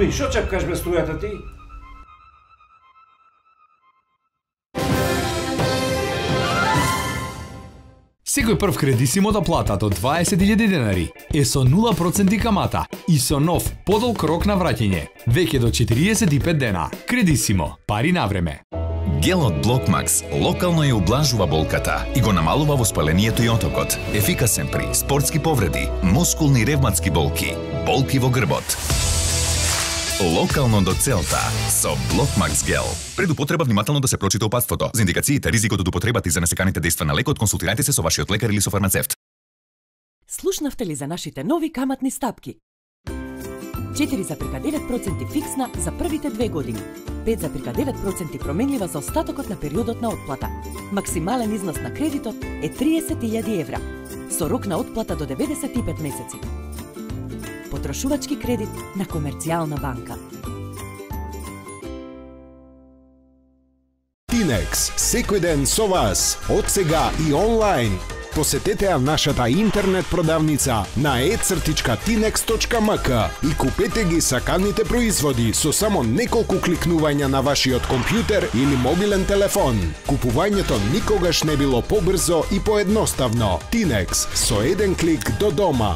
Луби, шо чепкаш без струјата ти? Секој прв Кредисимо да плата до 20.000 денари е со 0% камата и со нов подолг рок на враќање, веќе до 45 дена. Кредисимо, пари на време. Гелот Блокмакс локално ја ублажува болката и го намалува воспалението и отокот. Ефикасен при спортски повреди, мускулни и ревматски болки, болки во грбот. Локално до целта со Блокмакс гел. Пред употреба внимателно да се прочита опатството. За индикациите, ризикот од употребата и за несеканите дејства на лекот, консултирајте се со вашиот лекар или со фармацевт. Слушнавте ли за нашите нови каматни стапки? 4,9% фиксна за првите 2 години. 5,9% променлива за остатокот на периодот на отплата. Максимален износ на кредитот е 30.000 евра, со рок на отплата до 95 месеци. Потрошувачки кредит на Комерцијална банка. Тинекс, секој ден со вас, од сега и онлайн. Посетете ја нашата интернет продавница на e-tinex.mk и купете ги саканите производи со само неколку кликнувања на вашиот компјутер или мобилен телефон. Купувањето никогаш не било побрзо и поедноставно. Тинекс, со еден клик до дома.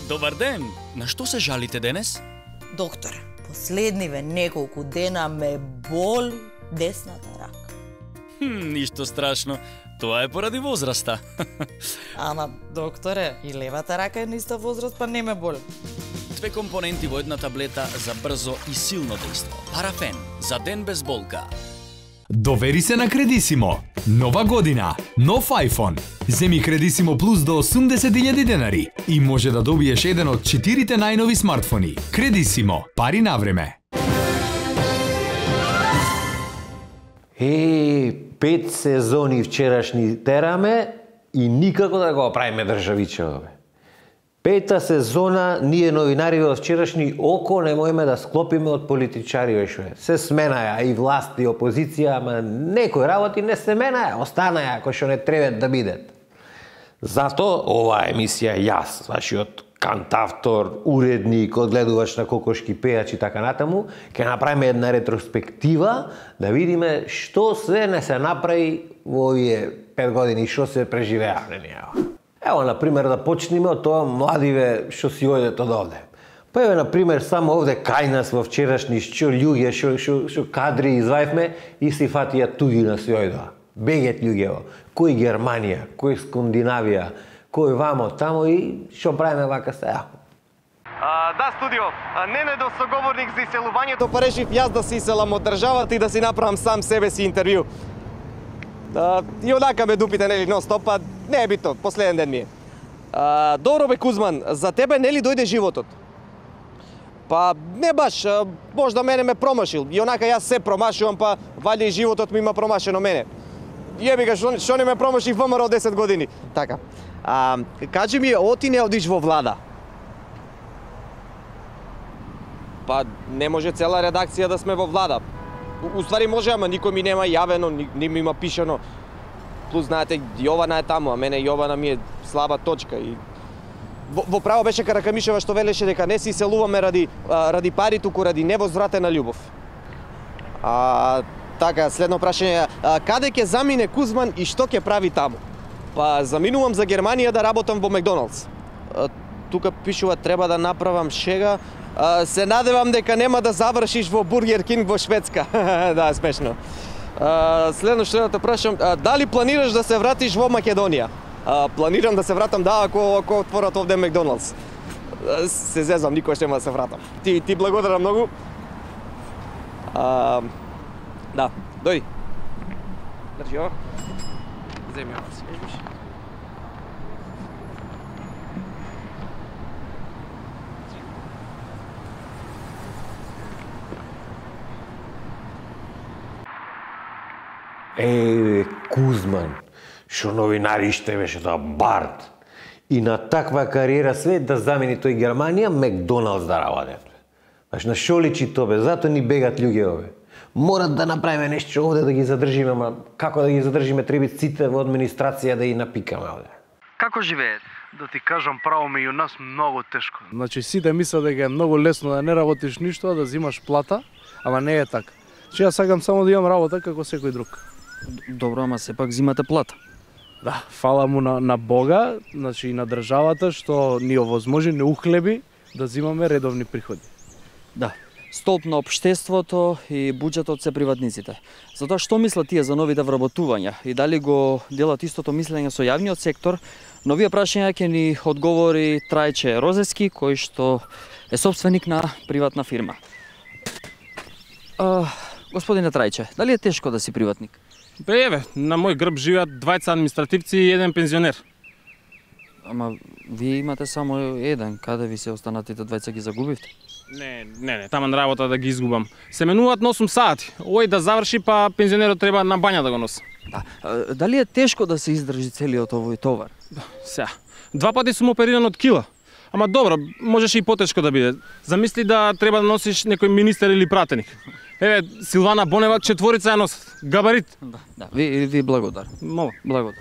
Добар ден! На што се жалите денес? Доктор, последниве неколку дена ме боли десната рака. Ништо страшно. Тоа е поради возраста. Ама, докторе, и левата рака е на иста возраст, па не ме боли. 2 компоненти во една таблета за брзо и силно дејство. Парафен, за ден без болка. Довери се на Кредисимо. Нова година, нов iPhone. Земи Кредисимо Плюс до 80.000 денари и може да добиеш еден од 4 најнови смартфони. Кредисимо, пари на време. 5 сезони вчерашни тераме и никако да го правиме државичеве. 5-та сезона ние новинари во вчерашни око не можеме да склопиме од политичари вешове. Се сменаја и власт и опозиција, ама некои работи не се менаја, останаја кои што не требат да бидат. Зато оваа емисија јас, вашиот кантавтор, уредник, одгледувач на кокошки пејачи и така натаму, ќе направиме една ретроспектива да видиме што се не се направи во овие 5 години, што се преживеа. Ево, например, да почнеме од тоа младиве што си одат од овде. Па еве, например, само овде кај нас во вчерашни што луѓе, што кадри извајвме и си фатија туѓина си ојдоа. Бегет луѓево, кој Германија, кој Скандинавија, кој вамо тамо и што правиме вака сега. Да, студио, Ненедов соговорник за иселувањето, па решив јас да се иселам од државата и да си направам сам себе си интервју. И онака ме дупите, нели, нон-стоп, па не е битно, последен ден ми е. Добро бе, Кузман, за тебе нели дојде животот? Па не баш, можда мене ме промашил. И онака јас се промашувам, па вали и животот ми има промашено мене. Јеби га, што не ме промаши ВМРО 10 години. Така. Кажи ми, оти не одиш во влада? Па не може цела редакција да сме во влада. Уствари може, ама никој ми нема јавено, не ми има пишано. Плюс, знаете, Јована е таму, а мене Јована ми е слаба точка. И во право беше Каракамишева што велеше дека не се иселуваме ради пари, туку ради невозвратена љубов. Така, следно прашање, каде ќе замине Кузман и што ќе прави таму? Па заминувам за Германија да работам во Макдоналдс. Тука пишува треба да направам шега. Се надевам дека нема да завршиш во Бургер Кинг во Шведска. Да, смешно. Следно што да те прашам, дали планираш да се вратиш во Македонија? Планирам да се вратам, да, ако отворат овде Макдоналдс. Се зезам, никош нема да се вратам. Ти благодарам многу. Да, дојди. Држи ово. Земи ово, си вижиш. Кузман, што новинари ште беше тоа Барт. И на таква кариера свет да замени тој Германија, Макдоналдс да работи. Значи, на шо личи тоа бе? Зато ни бегат луѓе ове. Морат да направиме нешто овде да ги задржиме, ама како да ги задржиме, треба сите во администрација да ги напикаме овде. Како живеете? Да ти кажам право, меѓу нас многу тешко. Значи сите мислат дека е многу лесно да не работиш ништо, а да земаш плата, ама не е така. Че јас сакам само да имам работа како секој друг. Добро, ама сепак зимате плата. Да, фала му на Бога, значи и на државата што ни овозможи, не ухлеби да земаме редовни приходи. Да. Столб на општеството и буџетот се приватниците. Затоа што мислат тие за новите вработувања и дали го делат истото мислење со јавниот сектор? На овие прашања ќе ни одговори Трајче Розески, кој што е собственик на приватна фирма. Господине Трајче, дали е тешко да си приватник? Еве, на мој грб живеат двајца административци и еден пензионер. Ама вие имате само еден, каде ви се останатите двајца ги загубивте? Не, таман работа да ги изгубам. Се менуваат на 8 сати. Овој да заврши, па пензионерот треба на бања да го носи. Да. Дали е тешко да се издржи целиот овој товар? Сега, 2 пати сум опериран од кила. Ама добро, можеше и потешко да биде. Замисли да треба да носиш некој министер или пратеник. Еве, Силвана Бонева 4 ја носат. Габарит. Да, ви благодарам. Мола. Благодарам.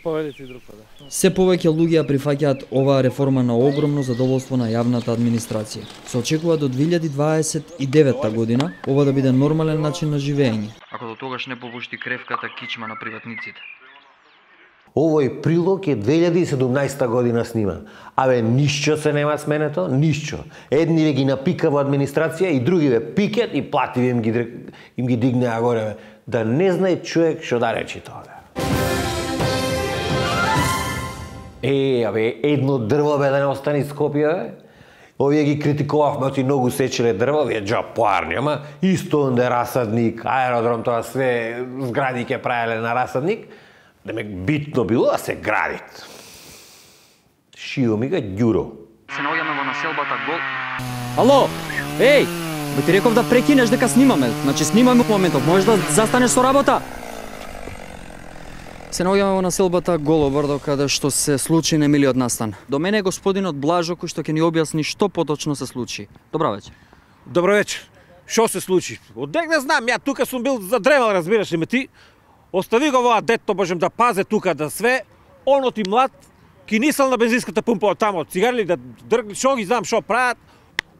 Поведете и друг пат. Се повеќе луѓе прифаќаат оваа реформа на огромно задоволство на јавната администрација. Се очекува до 2029 година ова да биде нормален начин на живење. Ако до тогаш не попушти кревката кичма на приватниците. Овој прилог е 2017 година сниман. Абе, ништо се нема сменето, ништо. Едни ги напика во администрација и други пикет и плативи им ги дигнеа горе. Да не знае човек што да речи тоа. Абе, едно дрво да не остане Скопје, овие ги критикувавме, оти многу сечеле дрво, овие џапоарни, ама исто онде расадник, аеродром, тоа све згради ќе правеле на расадник, демек битно било да се градит. Шио ми га Ѓуро. Се наоѓаме во населбата Гол. Ало, еј, ти реков да прекинеш дека снимаме, значи снимаме во моментов, можеш да застанеш со работа. Се наоѓаме во населбата Голобрдо, каде што се случи немилиот настан. До мене е господинот Блажо, кој што ќе ни објасни што поточно се случи. Добра вечер. Добро вечер. Што се случи? Одек не знам, ја тука сум бил задревал, разбираш ли ме ти? Остави го воа детто, можем да пазе тука да све. Онот и млад, кинисал на бензинската пумпа од тамо, цигарли да дргли, шо ги знам шо прават.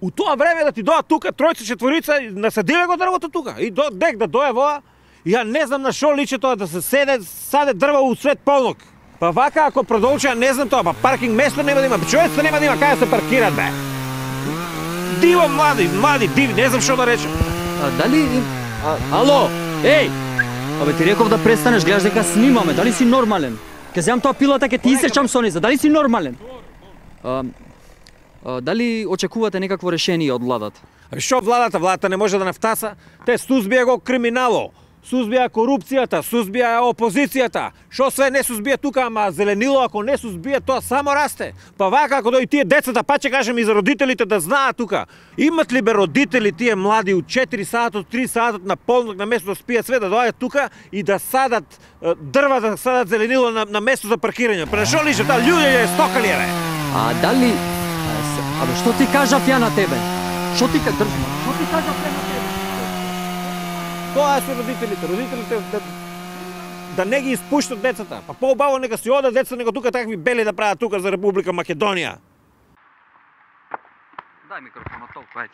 У тоа време да ти доа тука тројца, четворица, насадиле го дрвото тука. И дек да дое воа, ја не знам на шо личи тоа да се саде дрва у свет полнок. Па вака ако продолжи, ја не знам тоа, па паркинг место нема да има, човеците нема да има каде се паркират, бе. Диво млади, диви, не знам шо да речем. Дали... Ало, еј! Абе ти реков да престанеш, гледаш дека снимаме, дали си нормален? Ке земам тоа пилата, ке ти исечам со низа, дали си нормален? Дали очекувате некакво решение од владата? Шо владата? Владата не може да нафтаса. Те сузбија го криминало, сузбија корупцијата, сузбија опозицијата. Шо све не сузбија тука, ама зеленило ако не сузбија, тоа само расте. Па вака ако дојдат тие децата, па ќе кажем и за родителите да знаат тука. Имат ли бе родители тие млади у 4 сатот, 3 сатот на полнок на место да спијат све, да дојдат тука и да садат дрва, да садат зеленило на место за паркирање. Па шо лише таа луѓе стокали бе? Дали... Абе што ти кажав ја на тебе? Што ти кажав ја на тебе? Тоа се родителите да не ги испуштат децата. Па поубаво нека си одат деца, него тука такви бели да прават тука за Република Македонија. Дај микрофонот толку, ајде.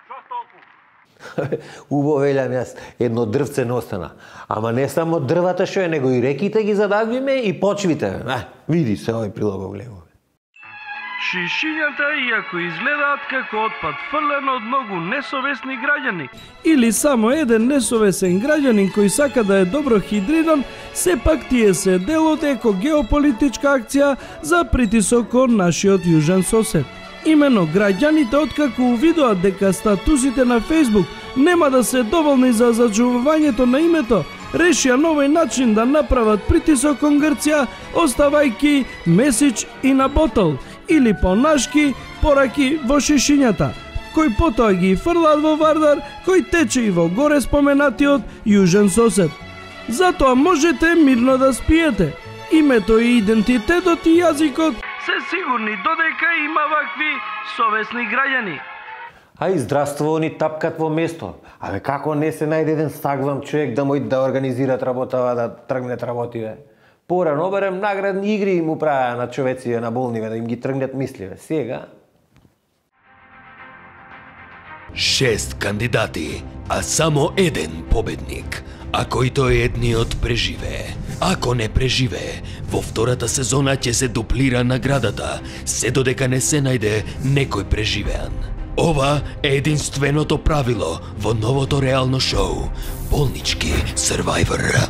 Шо толку? Убаво велјам јас, едно дрвце не остана. Ама не само дрвата што е, него и реките ги задавиме и почвите. Види се овој прилог го гледаме. Шишињата, иако изгледаат како отпад фрлен од многу несовесни граѓани, или само еден несовесен граѓанин кој сака да е добро хидриран, сепак тие се дел од еко-геополитичка акција за притисок кон нашиот јужен сосед. Имено граѓаните, откако увидоат дека статусите на Facebook нема да се доволни за зачувувањето на името, решија на овој начин да направат притисок кон Грција, оставајки месидж и на ботол, или понашки пораки во шишињата, кој потоа ги фрлаат во Вардар, кој тече и во горе споменатиот јужен сосед. Затоа можете мирно да спиете. Името и идентитетот и јазикот се сигурни додека има вакви совесни граѓани. Ај, здравство, ни тапкат во место. Абе, како не се најде еден стагвам човек да мој да организират работава, да тргнет работиве? Порано барем наградни игри им управаа на човеците на болниве да им ги тргнат мисливе. Сега 6 кандидати, а само еден победник, а кој тој едниот преживее. Ако не преживее, во втората сезона ќе се дуплира наградата, се додека не се најде некој преживеан. Ова е единственото правило во новото реално шоу Болнички Survivor.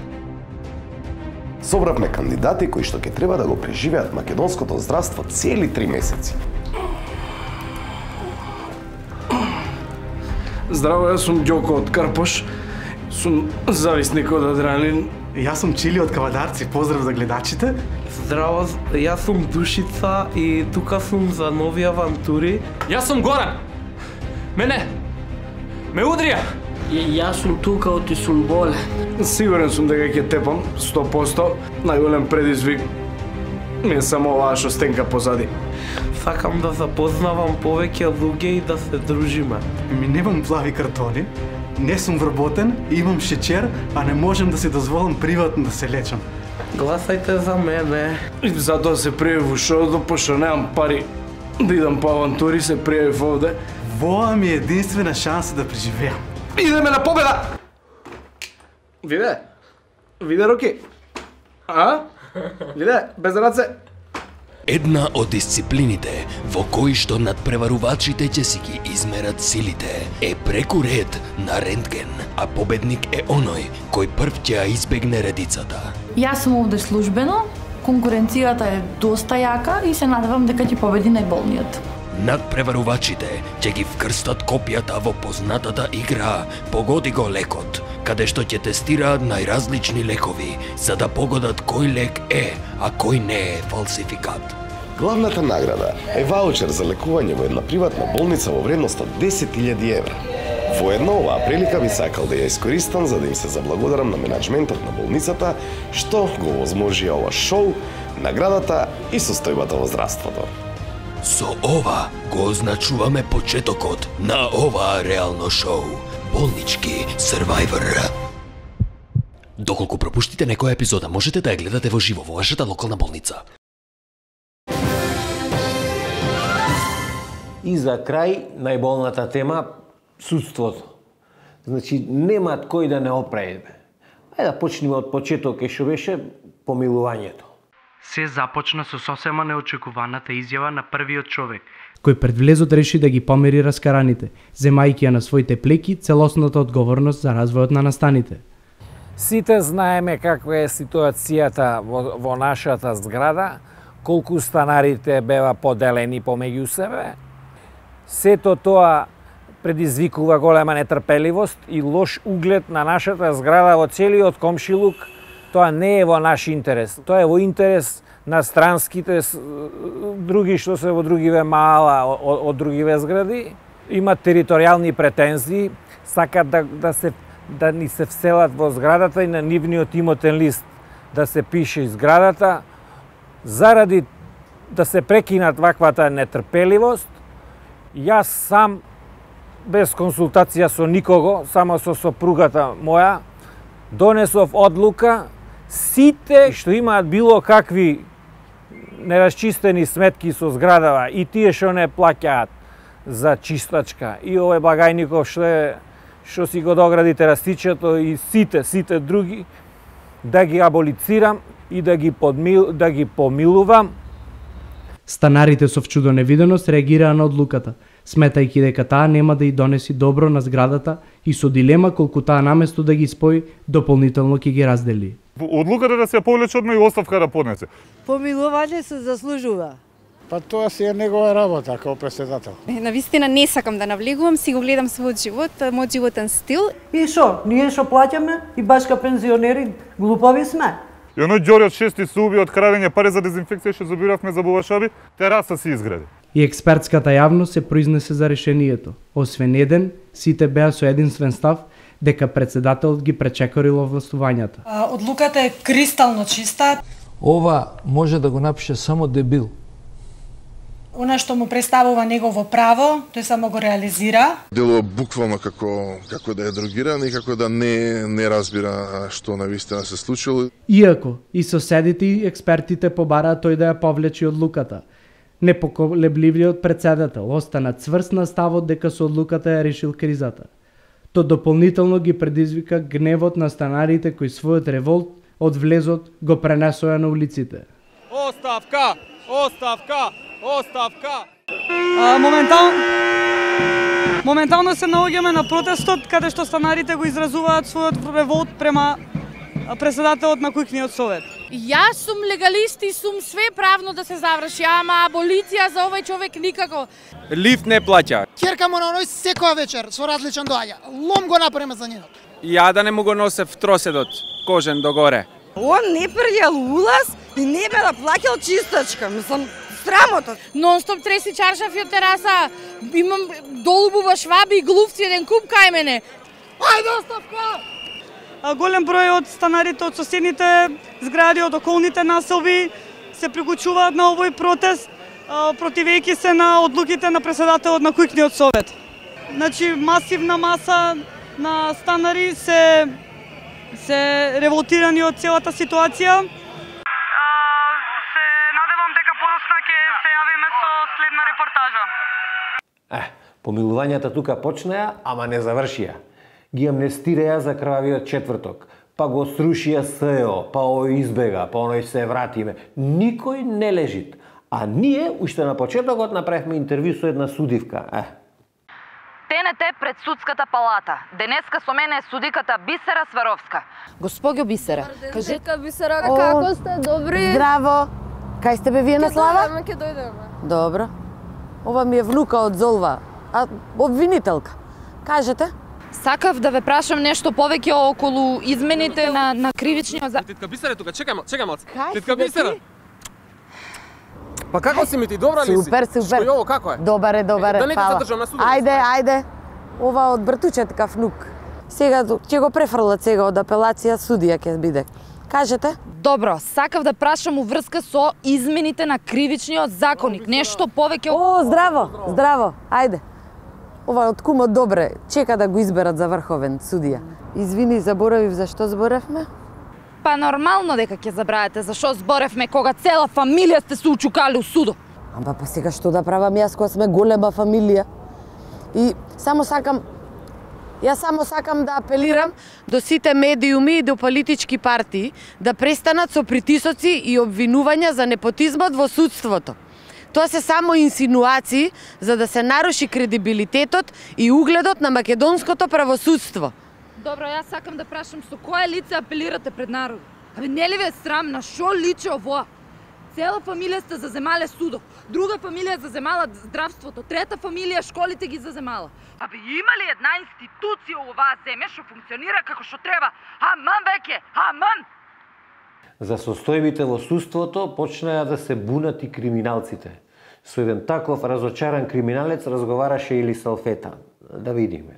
Собравме кандидати кои што ќе треба да го преживеат македонското здравство цели 3 месеци. Здраво, јас сум Ѓоко од Карпош. Сум зависник од адреналин. Јас сум Чили од Кавадарци. Поздрав за гледачите. Здраво, јас сум Душица и тука сум за нови авантури. Јас сум Горан. Мене ме удрија. Јас сум тука оти сум болен. Сигурен сум дека ќе тепам 100%. Најголем предизвик ми е само оваа шостенка позади. Сакам да запознавам повеќе луѓе и да се дружиме. Ми немам плави картони, не сум вработен, имам шеќер, а не можем да си дозволам приватно да се лечам. Гласајте за мене. И затоа се пријавив во шоуто, пошто немам пари да идам по авантури, се пријавив овде. Воа ми е единствена шанса да преживеам. Идеме на победа! Виде руки. А? Виде, без раце. Една од дисциплините во кои што надпреварувачите ќе си ги измерат силите е преку ред на рентген, а победник е оној кој прв ќе ја избегне редицата. Јас сум овде службено, конкуренцијата е доста јака и се надевам дека ќе победи најболниот. Надпреварувачите ќе ги вкрстат копијата во познатата игра Погоди го лекот, каде што ќе тестираат најразлични лекови, за да погодат кој лек е, а кој не е фалсификат. Главната награда е ваучер за лекување во една приватна болница во вредност од 10.000 евра. Воедно, оваа прилика би сакал да ја искористам за да им се заблагодарам на менаџментот на болницата што го возможија ова шоу, наградата и состојбата во здравството. Со ова го означуваме почетокот на оваа реално шоу Болнички Survivor. Доколку пропуштите некоја епизода, можете да ја гледате во живо во вашата локална болница. И за крај, најболната тема, судството. Значи, немаат кој да не оправи. Ајде да почнеме од почеток, што беше помилувањето. Се започна со сосема неочекуваната изјава на првиот човек, кој пред влезот реши да ги помери раскараните, земајќи ја на своите плеки целосната одговорност за развојот на настаните. Сите знаеме каква е ситуацијата во нашата зграда, колку станарите беа поделени помеѓу себе. Сето тоа предизвикува голема нетрпеливост и лош углед на нашата зграда во целиот комшилук. Тоа не е во наш интерес. Тоа е во интерес на странските други што се во другиве мала од другиве згради. Имат територијални претензии, сакат да ни се вселат во зградата и на нивниот имотен лист да се пише зградата, заради да се прекинат ваквата нетрпеливост. Јас сам, без консултација со никого, само со сопругата моја, донесов одлука сите што имаат било какви нерасчистени сметки со зградава и тие што не плаќаат за чистачка и овој Багајников што си го догради терасичето и сите други, да ги аболицирам и да ги помилувам. Станарите со вчудо невиденост реагираа на одлуката, сметајќи дека таа нема да ја донеси добро на зградата и со дилема колку таа наместо да ги спои, дополнително ќе ги раздели. Одлуката да се повлече одма и оставка да поднесе. Помилување се заслужува. Па тоа си е негова работа како претседател. Навистина не сакам да навлегувам, си го гледам својот живот, мојот животен стил. И шо, ние што плаќаме и башка пензионери, глупави сме. И оној Ѓорјот шести се уби од крадење пари за дезинфекција што забиравме за бубашаби, тераса си изгради. И експертската јавност се произнесе за решението. Освен еден, сите беа со единствен став дека председателот ги пречекорил овластувањата. Одлуката е кристално чиста. Ова може да го напише само дебил. Она што му представува негово право, тој само го реализира. Делува буквално како да е дрогиран и како да не разбира што навистина се случило. Иако и соседите и експертите побараат тој да ја повлечи одлуката, непоколебливиот председател остана цврст на ставот дека со одлуката ја решил кризата. То дополнително ги предизвика гневот на станарите кои својот револт од влезот го пренесоа на улиците. Оставка! Оставка! Оставка! Моментално се наоѓаме на протестот каде што станарите го изразуваат својот револт према председателот на Куќниот совет. Јас сум легалист и сум све правно да се заврши, ама аболиција за овој човек никако. Лифт не плаќа. Ќерка му на оној секоја вечер со различен доаѓа. Лом го направиме за нjenот. Ја да не му го носев троседот, кожен догоре. Он не прјел улаз и не бе да плаќал чистачка. Мислам, срамота. Нон-стоп треси чаршафи од тераса. Имам долубува шваби и глувци еден куп кај мене. Ајде оставка! Голем број од станарите од соседните згради, од околните населби се приклучуваат на овој протест, противејќи се на одлуките на председателот на Куќниот совет. Значи, масивна маса на станари се револтирани од целата ситуација. Се надевам дека подоцна ќе се јавиме со следна репортажа. Помилувањата тука почнеа, ама не завршија. Ги амнестираја за крвавиот четврток, па го срушија СЕО, па овој избега, па оној се вратиме. Никој не лежит. А ние, уште на почетокот, направивме интервју со една судивка. ТНТ пред судската палата. Денеска со мене е судиката Бисера Сваровска. Госпоѓо Бисера, Кажете, Бисера, како сте? Добри? Здраво. Кај сте бе вие на слава? Ќе дојдеме. Добро. Ова ми е внука од Золва, обвинителка. Кажете? Сакав да ве прашам нешто повеќе околу измените на кривичниот закон. Титка Бисера тука, чекај малце. Кај Титка Бисера. Па како си ми ти, добра ли си? Супер. Што е ово, како е? Добар е, Да не ти задржам на судот. Ајде. Ова од братучет внук. Сега ќе го префрлат сега од апелација, судија ќе биде. Кажете? Добро, сакав да прашам уврска со измените на кривичниот законник. Нешто повеќе... О, здраво. Ајде. Ова од кумот добре, чека да го изберат за врховен судија. Извини, заборавив за што зборевме? Па нормално дека ќе забравите за што зборевме кога цела фамилија сте се учукали у судо. Ама па сега што да правам јас кога сме голема фамилија? И само сакам да апелирам до сите медиуми и до политички партии да престанат со притисоци и обвинувања за непотизмот во судството. Тоа се само инсинуации за да се наруши кредибилитетот и угледот на македонското правосудство. Добро, јас сакам да прашам со кое лице апелирате пред народ? Абе, не ли ве срам, на шо личи ово? Цела фамилија сте заземале судот, друга фамилија заземала здравството, трета фамилија школите ги заземала. Абе, има ли една институција у оваа земја што функционира како што треба? Аман веќе, аман! За состојбите во судството почнаа да се бунат и криминалците. Со еден таков разочаран криминалец разговараше Или Салфета. Да видиме.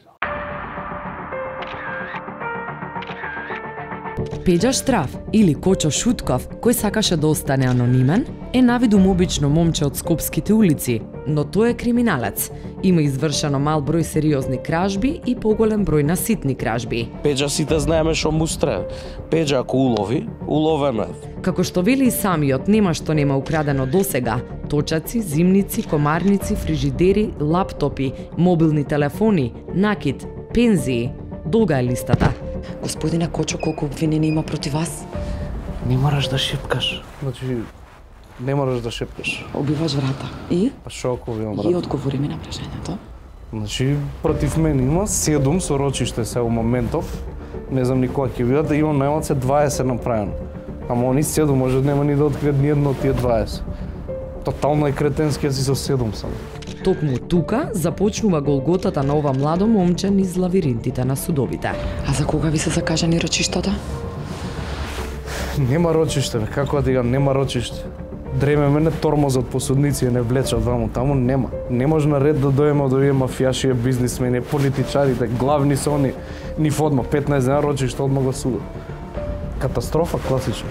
Пеđa Штраф или Кочо Шутков, кој сакаше да остане анонимен, е навидум обично момче од скопските улици, но тој е криминалец. Има извршено мал број сериозни кражби и поголем број на ситни кражби. Пеđa сите знаеме што му стре. Пеđa ако улови, уловено е. Како што вели и самиот, нема што нема украдено досега. Точаци, зимници, комарници, фрижидери, лаптопи, мобилни телефони, накид, пензии. Долга е листата. Господине Кочо, колку обвинени има против вас? Не мораш да шепкаш. Значи, не мораш да шепкаш. Обиваш врата. И? Па шо ако обивам врата? И одговори ми на прашањето. Значи, против мене има 7 со рочиште се у моментов. Не знам ни кога ќе видат, да имам најмалце 20 направено. Ама они 7 може нема ни да откријат ни едно од тие 20. Тотално е кретенски, си со 7 само. Токму тука започнува голготата на ова младо момче низ лавиринтите на судовите. А за кога ви се закажани рочиштата? Нема рочиште, како да дигам, нема рочиште. Дреме мене тормозот по судници не влечат ваму, таму нема. Не може на ред да дојдеме од овие мафијаши, бизнисмени, политичарите, главни се они, ни одма 15 дена рочиште одма го судот. Катастрофа класична.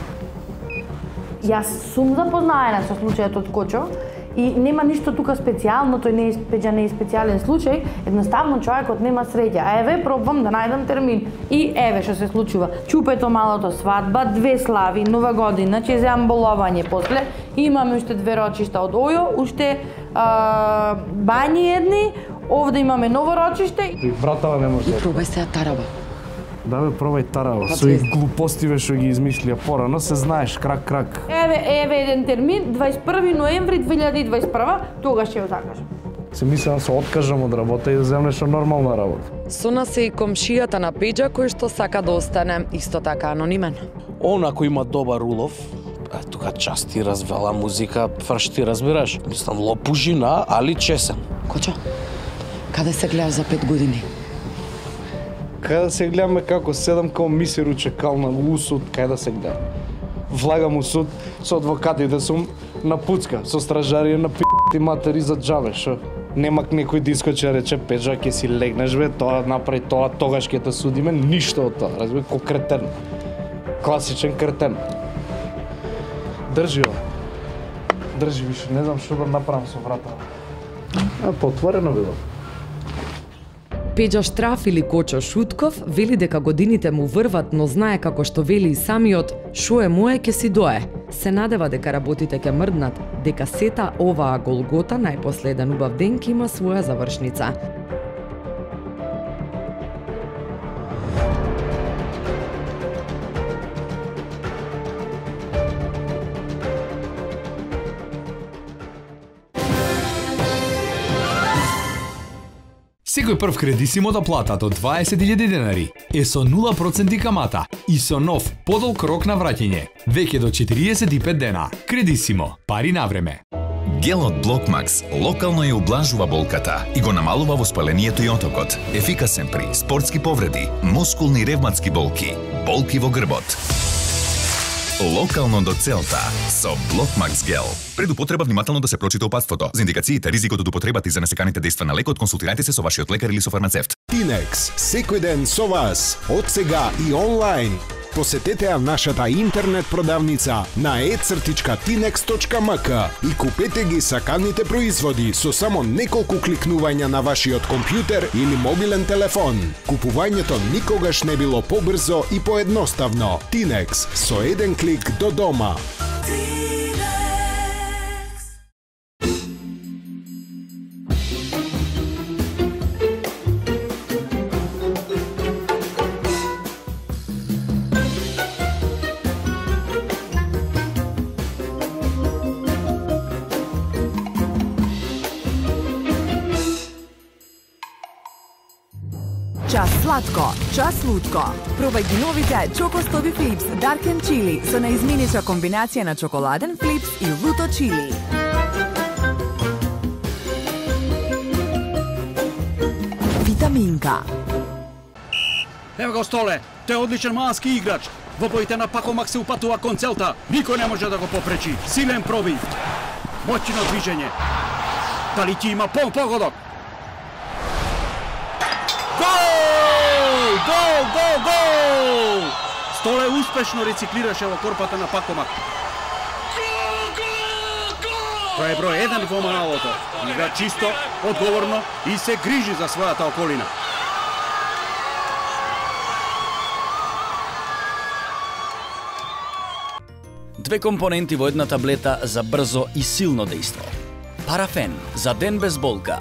Јас сум запознаена со случајот од Кочо И нема ништо тука специјално, тој не е специјален случај, едноставно човекот нема среќа. А еве пробвам да најдам термин. И еве што се случува. Чупето малото, свадба, 2 слави, нова година, ќе земам боловање после. Имаме уште 2 рочишта од Ојо, уште бањи едни, овде имаме ново рочиште. И братава не може. Пробај се тараба. Да бе, пробај тараба. Со и глупостиве што ги измислија порано, се знаеш, крак. Еве еден термин, 21 ноември 2021, тогаш ќе го закажам. Се мислам да се откажам од работа и да земнеш нормална работа. Со нас е и комшијата на Пеџа кој што сака да остане исто така анонимен. Он ако има добар улов, тука части, развела музика, фршти, разбираш? Мислам, лопужина, али чесен. Кочо, каде се гледаш за 5 години? Кај да се гледаме како седам као мисер у чекална у суд, кај да се гледам. Влагам у суд, со адвокатите сум на пуцка, со стражарија на пи***ти матери за џабе, шо? Немак некој да искочи рече, Пеџа, ќе си легнеш бе, тоа направи тоа, тогаш ќе те судиме, ништо од тоа, разбира, ко кретен. Класичен кретен. Држи ова. Држи више, не знам што да направам со врата. Потворено било. Пеџа Штраф или Кочо Шутков вели дека годините му врват, но знае како што вели и самиот, шо е мое ќе си дое. Се надева дека работите ќе мрднат, дека сета оваа голгота најпоследен убав ден ќе има своја завршница. Секој прв кредисимо да платат од 20.000 денари е со 0% камата и со нов подолг рок на враќање, веќе до 45 дена. Кредисимо, пари на време. Гелот Блокмакс локално ја ублажува болката и го намалува воспалението и отокот. Ефикасен при спортски повреди, мускулни ревматски болки, болки во грбот. Локално до целта со Блокмакс Гел. Пред употреба внимателно да се прочита опасството. За индикациите, ризикот од употребата и за несеканите дејства на лекот, консултирајте се со вашиот лекар или со фармацевт. Тинекс, секој ден со вас, од сега и онлайн. Посетете ја нашата интернет продавница на e-tinex.mk и купете ги саканите производи со само неколку кликнувања на вашиот компјутер или мобилен телефон. Купувањето никогаш не било побрзо и поедноставно. Тинекс, со еден клик до дома. Час сладко, час лутко. Пробај ги новите Чоко Стоби Флипс Dark and Chili со наизменича комбинација на чоколаден флипс и луто чили. Витаминка. Ево го Столе, тој е одличен малски играч. Во боите на Пакомак се упатува кон целта. Никој не може да го попречи. Силен пробив. Моќно движење. Дали ќе има погодок? Гол! Столе успешно рециклираше во корпата на Пакомак. Тој е број 1 во Маналото. Игра чисто, одговорно и се грижи за својата околина. Две компоненти во една таблета за брзо и силно дејство. Парафен за ден без болка.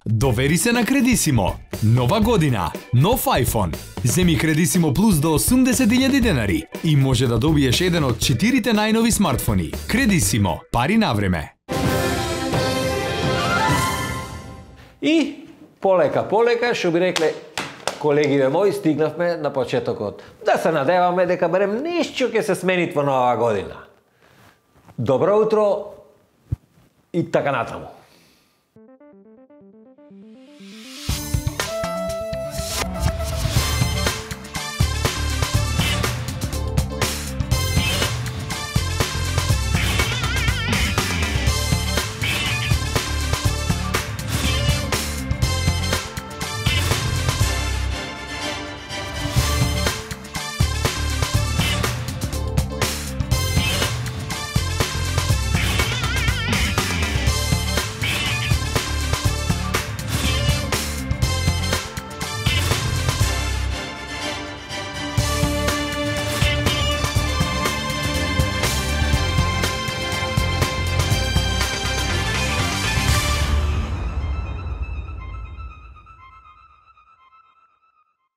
Довери се на Кредисимо. Нова година, нов iPhone. Земи Кредисимо Плюс до 80.000 денари и може да добиеш еден од 4 најнови смартфони. Кредисимо, пари на време. И полека, што би рекле колегиве мои, стигнавме на почетокот. Да се надеваме дека барем нешто ќе се смени во нова година. Добро утро и така натаму.